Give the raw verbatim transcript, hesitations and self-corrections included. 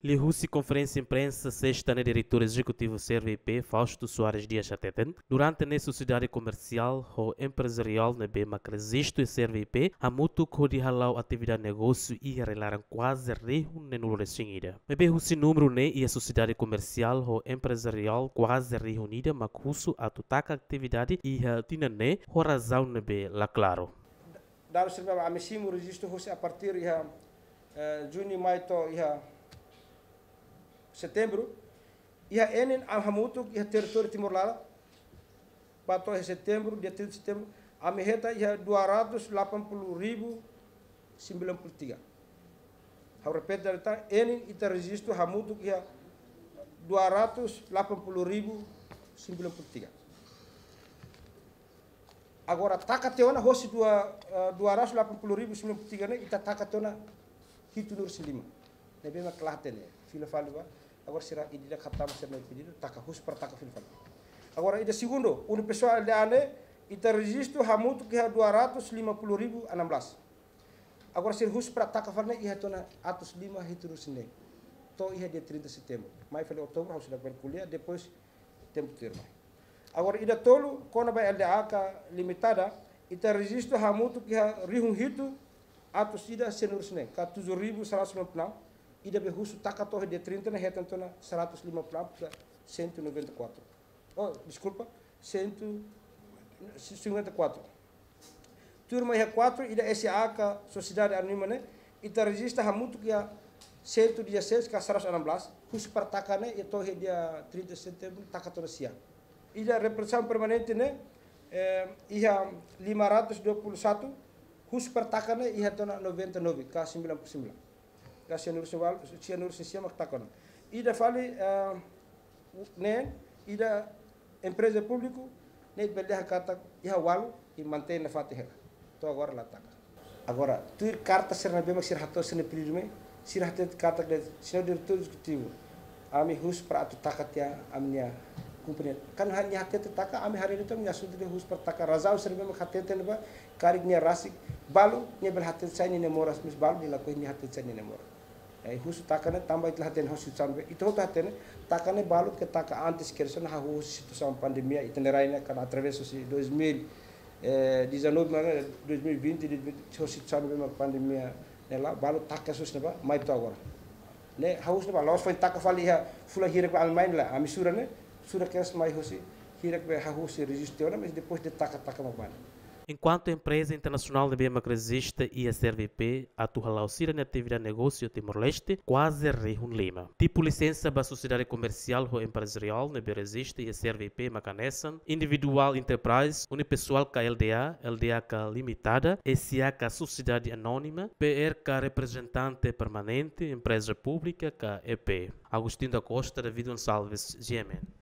Liuhusi konferénsia imprensa sesta ne'e, diretór ezekutivu CRVIP, Fausto Soares Dias hateten, durante ne'e sosiedade komersiál ho emprezariál ne'ebé mak rejistu iha CRVIP hamutuk hodi hala'o atividade negósiu iha rai-laran kuaze rihun neenulu-resin-ida. Maibé husi númeru ne'e, iha sosiedade komersiál ho emprezariál kuaze rihun ida mak husu atu taka atividade iha tinan ne'e ho razaun ne'ebé la klaru. Dadus sira ne'ebé ami simu rejistu husi a partir iha, eh, Juni mai to'o iha Setembru, iha N N A hamutuk iha territóriu Timor laran, ba to'o iha Setembru, dia trinta Setembru, ami hetan iha dua ratus delapan puluh ribu sembilan puluh tiga. Ha'u repete, data N N A ita rejistu hamutuk iha dua ratus delapan puluh ribu sembilan puluh tiga. Agora taka tiha ona hosi dua, eh, dua ratus delapan puluh ribu sembilan puluh tiga ne'e, ita taka tiha ona hitunulu-resin-lima. Ne'ebé mak la hatene, fila fali ba. Agora sira ida-idak hatama sira-nia pedidu, taka husu para taka fila fali. Agora ida segundu, unipessoal L D A ne'e, ita rejistu hamutuk iha dua ratus lima puluh ribu enam belas. Agora sira husu para taka fali ne'e, iha tiha ona atus lima hitunulu-resin-neen. To'o iha dia trinta Setembru. Mai fali Outubru, ha'u seidauk bele ko'alia, depois tempu tuirmai. Agora ida tolu, kona-ba L D A ka limitada, ita rejistu hamutuk iha rihun hitu atus ida sianulu-resin-neen, ka tujuh ribu seratus sembilan puluh enam, ida be husu taka to'o dia trinta ne'e hetan tiha ona seratus lima puluh enam ka cento e noventa e quatro. Oh, deskulpa, cento e cinquenta e quatro. Tuirmai iha quatro, ida S A ka sosiedade anónima ne'e, ita rejista hamutuk iha cento e dezasseis ka seratus enam belas, husu para taka ne'e, iha to'o iha dia trinta Setembru, taka tiha ona sia. Ida representasaun permanente ne'e, eh, iha lima ratus dua puluh satu, husu para taka ne'e, iha tiha ona noventa e nove ka sembilan puluh sembilan. Ka sianulu-resin-sia mak taka ona. Ida fali, eh, ne'e, ida empreza públiku, ne'e bele dehan katak iha ualu i mantein nafatin hela. To'o agora la taka. Agora, tuir karta sira ne'ebé mak sira hato'o sira-nia pedidu mai, sira hatete katak dehan, señór diretór ezekutivu, ami husu para atu taka tiha ami-nia kompañia. Kan nia hatete taka, ami haree de'it nia asuntu dehan husu para taka, razaun sira ne'ebé mak hateten ba, karik nia rasik, balu, nia bele hateten sai nia moras, mais balu nia lakohi nia hateten sai nia moras. Eh, husu taka ne'e tanba ita la hatene hosi situasaun ne'ebé, ita hotu hatene, taka ne'e balu ke taka antes ke sona hahú situasaun pandemia, ita-nia rai ne'e kan atravesu husi dois mil e dezanove, mana, dois mil e vinte, dois mil e vinte, hosi situasaun ne'ebé mak pandemia ne'e la'o, balu taka husi ne'ebá, mai to'o agora. Ne'e, hahú husi ne'ebá, la'ós foin taka fali iha fulan hirak ba ami mai ne'e lae, ami sura ne'e, sura kedas mai hosi, hirak be hahú husi rejistu ona, mais depois de taka, taka mak bá ne'e. Enkuantu empreza internasionál ne'ebé mak rejista iha CRVIP atu hala'o sira-nia atividade negósiu Timor-Leste kuaze rihun lima. Tipu lisensa ba sosiedade komersiál ho emprezariál ne'ebé rejista iha CRVIP mak hanesan individual enterprise, unipessoal ka L D A, L D A ka limitada, S A ka sosiedade anónima, P R ka reprezentante permanente, empreza públika ka E P. Agostinho da Costa, David Gonçalves, G M N.